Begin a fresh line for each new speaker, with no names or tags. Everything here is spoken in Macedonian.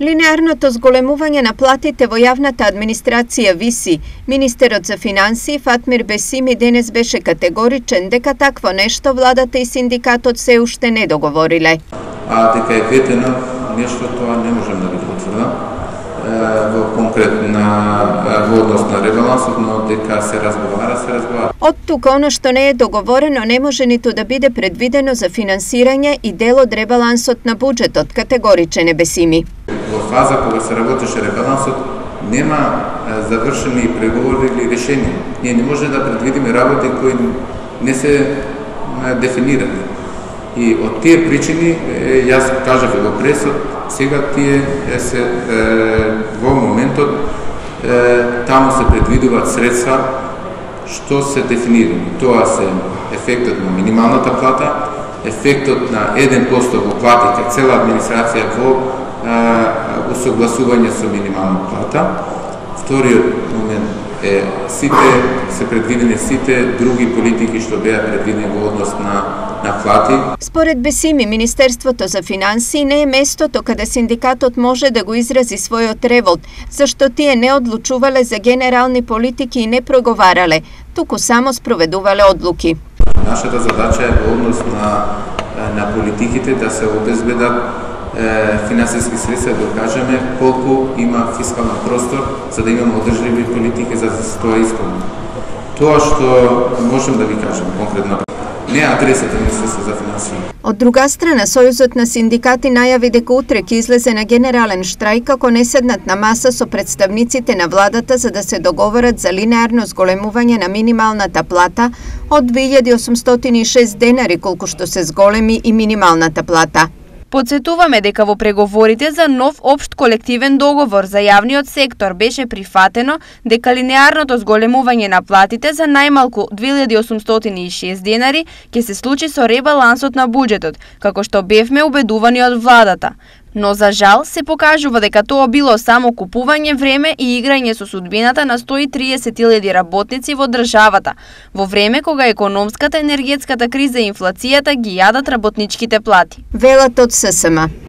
Линеарното зголемување на платите во јавната администрација виси. Министерот за финансии Фатмир Бесими денес беше категоричен дека такво нешто владата и синдикатот се уште не договориле.
Дека е ветено нешто, тоа не можем да го потврдам во однос на ребалансот, но дека се разговара.
Од тука оно што не е договорено не може ниту да биде предвидено за финансирање и дел од ребалансот на буџетот, категоричен е Бесими.
Во фаза кога се работеше ребалансот нема завршени преговори или решенија. Ние не може да предвидиме работи кои не се дефинирани. И од тие причини, јас кажав и во пресот, сега тие се во моментот таму се предвидуваат средства што се дефинирани. Тоа се ефектот на минималната плата, ефектот на 1% во плати кај цела администрација во усогласување со минимална плата. Вториот момент е се предвидени сите други политики што беа предвидени во однос на плати.
Според Бесими, Министерството за финансии не е местото каде синдикатот може да го изрази својот револт, зашто тие не одлучувале за генерални политики и не проговарале, туку само спроведувале одлуки.
Нашата задача е во однос на политиките да се обезбедат финансиски средства, да кажеме колку има фискален простор за да имаме одржливи политики за тоа искаме. Тоа што можем да ви кажем конкретно не адресата Министерство за финансии.
Од друга страна, Сојузот на синдикати најави дека утре ќе излезе на генерален штрајк ако не седнат на маса со представниците на владата за да се договорат за линеарно зголемување на минималната плата од 2806 денари колку што се зголеми и минималната плата.
Подсетуваме дека во преговорите за нов општ колективен договор за јавниот сектор беше прифатено дека линеарното зголемување на платите за најмалку 2806 денари ќе се случи со ребалансот на буџетот, како што бевме убедувани од владата. Но за жал се покажува дека тоа било само купување време и играње со судбината на 130.000 работници во државата, во време кога економската, енергетската криза и инфлацијата ги јадат работничките плати.
Велат од ССМ.